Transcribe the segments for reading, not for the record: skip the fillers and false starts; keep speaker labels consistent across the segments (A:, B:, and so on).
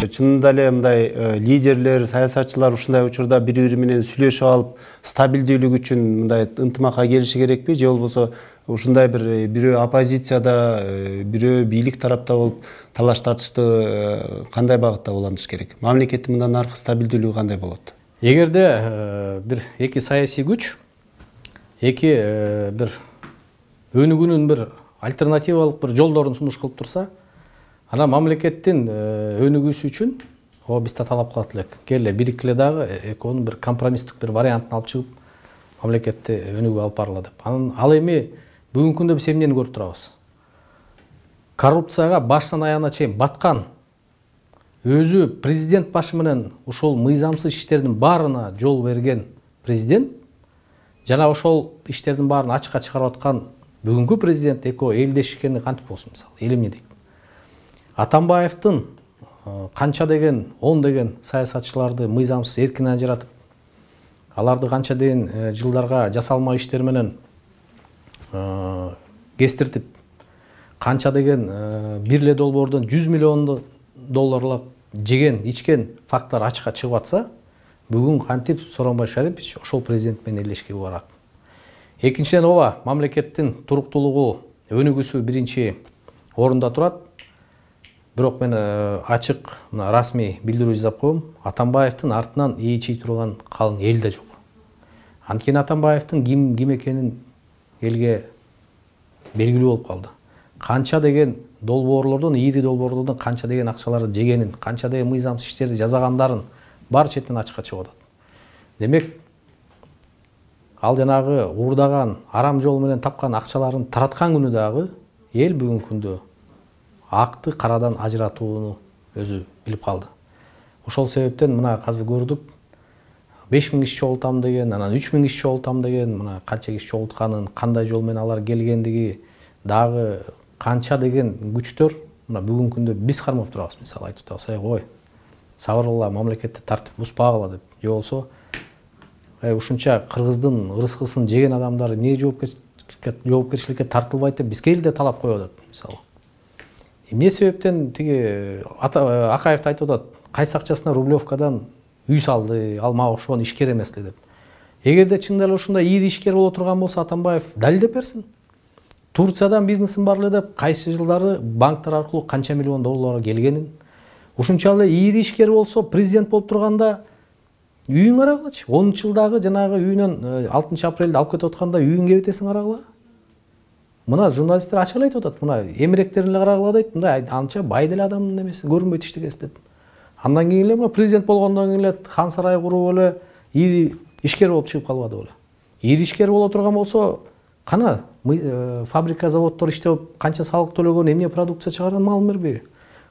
A: Чынында эле мындай лидерлер, саясатчылар ушундай учурда бири-бири менен сүйлөшүп алып, стабилдүүлүк үчүн мындай ынтымакка келиши керекпи, же болбосо ушундай бирөө оппозицияда, бирөө бийлик тарапта болуп талаш тартышты кандай багытта улантыш керек? Мамлекеттин мындан аркы стабилдүүлүгү кандай болот?
B: Эгерде бир эки саясий күч эки бир өнүгүүнүн бир альтернативалык бир жолдорун сунуш кылып турса, ана мамлекеттин өнүгүүсү үчүн бизде талап кылат элек. Келе бириккиле дагы экөөнүн бир компромисстик бир вариантын алып чыгып, мамлекетти өнүгүүгө алып баргыла деп. Ал эми бүгүнкү күндө биз эмнени көрүп турабыз? Коррупцияга баштан аягына чейин баткан, өзү президент башы менен ошол мыйзамсыз иштердин баарына жол берген президент жана ошол иштердин баарын ачыкка чыгарып аткан бүгүнкү президент экөө элдешкени кантип болсун, мисалы, эл эмне дейт? Атамбаевдин канча деген, 10 деген саясатчыларды мыйзамсыз эркин ажыратып, аларды канча деген жылдарга жасалма иштер менен кестиртип, канча деген бир эле долбоордон 100 миллион долларлык жеген, ичкен факттар ачыкка чыгып атса, бүгүн кантип Сооронбай Шарипович ошол президент менен элдешке барат? Экинчиден, мамлекеттин туруктуулугу, өнүгүүсү биринчи орунда турат. Бирок мен ачык расмий билдирүү жасап коем, Атамбаевдин артынан ээчий турган калың эл да жок. Анткени Атамбаевдин ким экенин элге белгилүү болуп калды. Канча деген долбоорлордон, ири долбоорлордон канча деген акчаларды жегенин, канча деген мыйзамсыз иштерди жасагандарын бар четинен ачыкка чыгып атат. Демек, ал жанагы уурдаган, арам жол менен тапкан акчаларын тараткан күнү дагы эл бүгүнкү күндө акты карадан ажыратууну өзү билип калды. Ошол себептен мына азыр көрдүк, 5000 киши чогултам деген, анан 3000 киши чогултам деген, мына канча киши чогултканын, кандай жол менен алар келгендиги, дагы канча деген күчтөр мына бүгүнкү күндө биз кармап турабыз, мисалы айтып атабыз, ой, сабырла, мамлекетти тартип бузбагыла деп. Же болсо, ушунча кыргыздын ырыскысын жеген адамдар эмне жоопкерчиликке тартылбайт деп бизге эле талап коюп атат, мисалы. Эмне себептен тиги Акаев айтып атат, кайсы акчасына Рублевкадан үй салды, ал мага ошон ишкер эмес эле деп. Эгерде чындап эле ушундай ири ишкер боло турган болсо, Атамбаев далилдеп берсин. Турциядан бизнесим бар эле деп, кайсы жылдары банктар аркылуу канча миллион доллар келгенин, ушунча эле ири ишкер болсо, президент болуп турганда үйүн карагылачы. 10-жылдагы жанагы үйүнөн 6 апрелде алып кетип атканда үйүн кебетесиң карагыла. Мына журналисттер ачык эле айтып атат, мына эмеректерин эле карагыла дейт, мындай анча бай деле адамдын эмеси, көрүнбөйт иштегес деп. Андан кийин эле президент болгондон кийин эле хан сарай куруп эле ири ишкер болуп чыгып калбады беле. Ири ишкер боло турган болсо, кана фабрика, заводдор иштеп, канча салык төлөгөн, эмне продукция чыгарган маалым бербейби?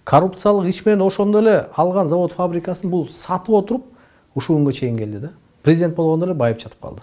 B: Коррупциялык иш менен ошондо эле алган завод фабрикасын бул сатып отуруп, ушул күнгө чейин келди да. Президент болгондо эле байып жатып калды.